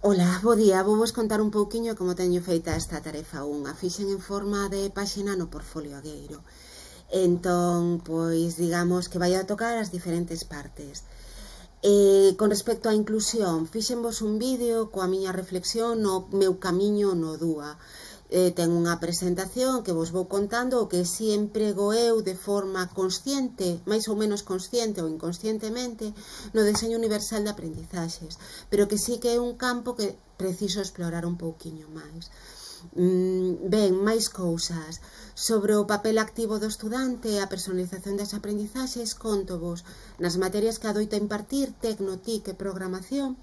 Ola, bo día, vou contar un pouquiño como teño feita esta tarefa 1. A fixen en forma de páxina no portfolio agueiro. Entón, pois, digamos que vai a tocar as diferentes partes. Con respecto á inclusión, fixenvos un vídeo coa miña reflexión no meu camiño no DUA. Ten unha presentación que vos vou contando o que si emprego eu de forma consciente, máis ou menos consciente ou inconscientemente, no deseño universal de aprendizaxes, pero que sí que é un campo que preciso explorar un pouquiño máis. Ben, máis cousas sobre o papel activo do estudante e a personalización das aprendizaxes. Contovos nas materias que adoita impartir Tecno, TIC e Programación,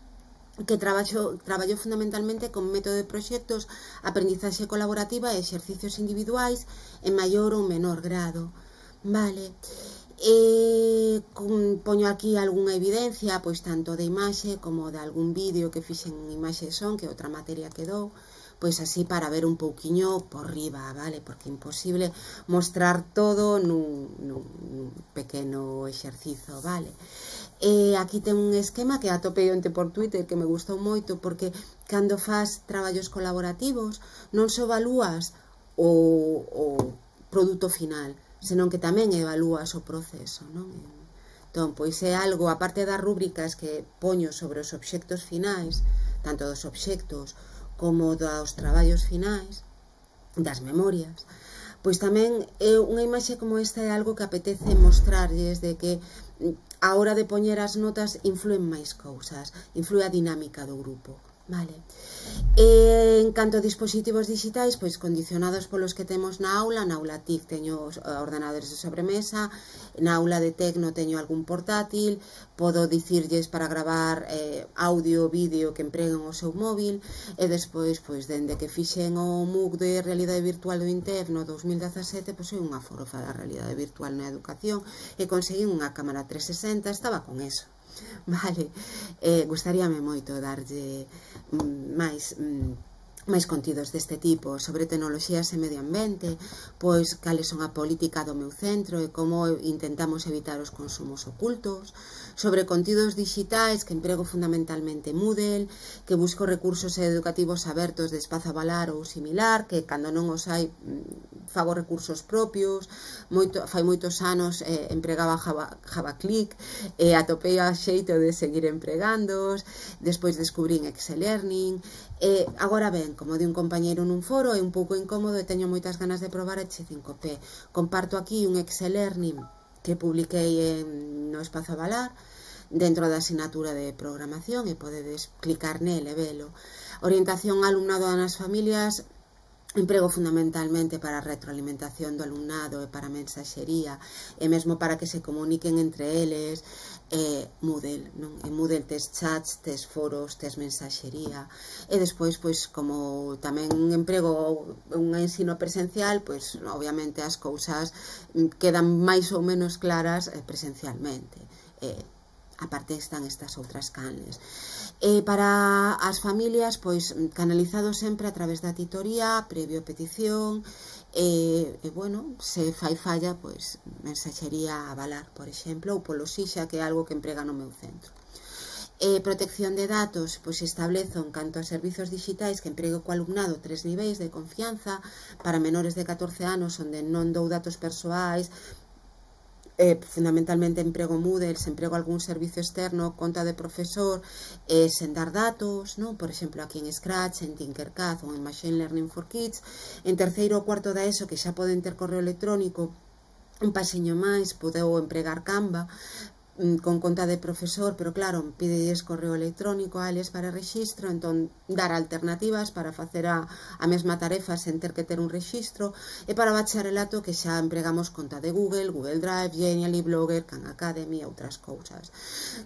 que traballo fundamentalmente con método de proxectos, aprendizaxe colaborativa e exercicios individuais en maior ou menor grado. Vale. Poño aquí algunha evidencia, pois tanto de imaxe como de algún vídeo que fixen en imaxe son, que outra materia que dou, pois así para ver un pouquiño por riba, vale? Porque é imposible mostrar todo nun pequeno exercizo, vale? Aquí ten un esquema que atopei onte por Twitter que me gustou moito, porque cando faz traballos colaborativos non só evalúas o produto final, senón que tamén evalúas o proceso, non? Entón, pois é algo, aparte das rúbricas que poño sobre os obxectos finais, tanto dos obxectos como dos traballos finais, das memorias, pois tamén unha imaxe como esta é algo que apetece mostrarlles, de que a hora de poñer as notas influen máis cousas, influe a dinámica do grupo, vale? En canto a dispositivos digitais, pois condicionados polos que temos na aula TIC teño os ordenadores de sobremesa, na aula de Tecno teño algún portátil, podo dicirlles para gravar audio, vídeo que empreguen o seu móvil, e despois, pois, dende que fixen o MOOC de realidade virtual do INTEF no 2017, pois, soy unha forofa da realidade virtual na educación e conseguín unha cámara 360, estaba con eso. Vale, gustaríame moito darlle máis contidos deste tipo sobre tecnoloxías e medio ambiente, pois cales son a política do meu centro e como intentamos evitar os consumos ocultos, sobre contidos digitais que emprego fundamentalmente Moodle, que busco recursos educativos abertos de Espazo Avalar ou similar, que cando non os hai fago recursos propios. Fai moitos anos empregaba JavaClick e atopei a xeito de seguir empregándoos, despois descubrín Excel Learning. Agora ben, como di un compañeiro nun foro, é un pouco incómodo e teño moitas ganas de probar H5P. Comparto aquí un Excel Learning que publiquei no Espazo Avalar dentro da asignatura de programación e podedes clicar nel e velo. Orientación ao alumnado nas familias emprego fundamentalmente para a retroalimentación do alumnado e para a mensaxería e mesmo para que se comuniquen entre eles. Moodle, non? En Moodle tes chats, tes foros, tes mensaxería e despois, pois, como tamén emprego un ensino presencial, pois, obviamente as cousas quedan máis ou menos claras presencialmente. Aparte están estas outras canles. Para as familias, pois, canalizado sempre a través da titoría, previo a petición, bueno, se fai falla, pois, mensaxería Avalar, por exemplo, ou polo Xixa, que é algo que emprega no meu centro. Protección de datos, pois establezo en canto a servizos digitais que emprego co alumnado 3 niveis de confianza para menores de 14 anos, onde non dou datos persoais. Fundamentalmente emprego Moodle, se emprego algún servicio externo, conta de profesor, sen dar datos, non? Por exemplo, aquí en Scratch, en Tinkercad ou en Machine Learning for Kids. En terceiro ou cuarto da ESO, que xa poden ter correo electrónico, un paseño máis, podeu empregar Canva con conta de profesor, pero claro, pídelles correo electrónico a eles para rexistro, entón dar alternativas para facer a mesma tarefa sen ter que ter un rexistro. E para bacharelato, que xa empregamos conta de Google, Google Drive, Genially, Blogger, Khan Academy e outras cousas,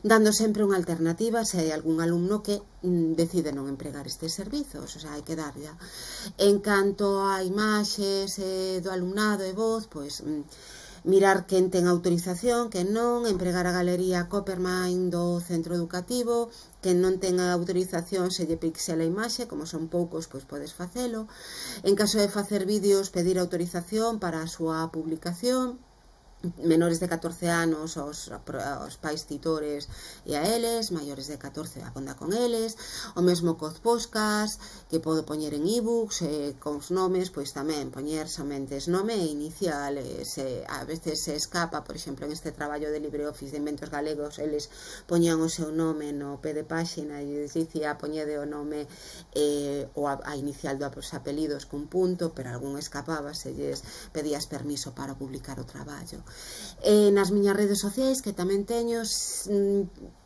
dando sempre unha alternativa se hai algún alumno que decide non empregar estes servizos, o sea, hai que darlla. En canto a imaxes do alumnado e voz, pois mirar quen ten autorización, quen non, empregar a galería Coppermine do centro educativo, quen non ten a autorización se lle pixela a imaxe, como son poucos, pois podes facelo. En caso de facer vídeos, pedir autorización para a súa publicación. menores de 14 anos aos pais titores e a eles, maiores de 14 a conda con eles, o mesmo cos podcast que podo poñer en ebooks, con os nomes, pois tamén poñer somente nome e inicial, a veces se escapa, por exemplo, en este traballo de LibreOffice de Inventos Galegos, eles poñían o seu nome no pé de páxina e les dicía poñede o nome ou a inicial dos apelidos cun punto, pero algún escapaba, se lles pedías permiso para publicar o traballo. Nas miñas redes sociais, que tamén teño,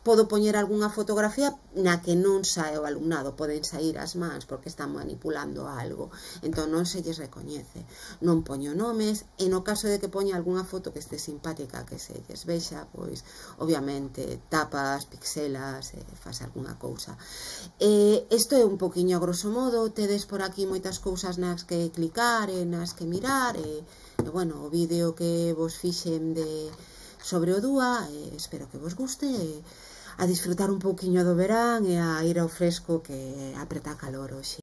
podo poñer algunha fotografía na que non sae o alumnado, poden sair as mans porque están manipulando algo, entón non se lles recoñece, non poño nomes, e no caso de que poña algunha foto que este simpática que se lles vexa, pois obviamente tapas, pixelas, faz algunha cousa. Isto é un poquinho a grosso modo, tedes por aquí moitas cousas nas que clicar e nas que mirar, e bueno, o vídeo que vos fixen sobre o DUA, espero que vos guste, a disfrutar un pouquiño do verán e a ir ao fresco que apreta calor hoxe.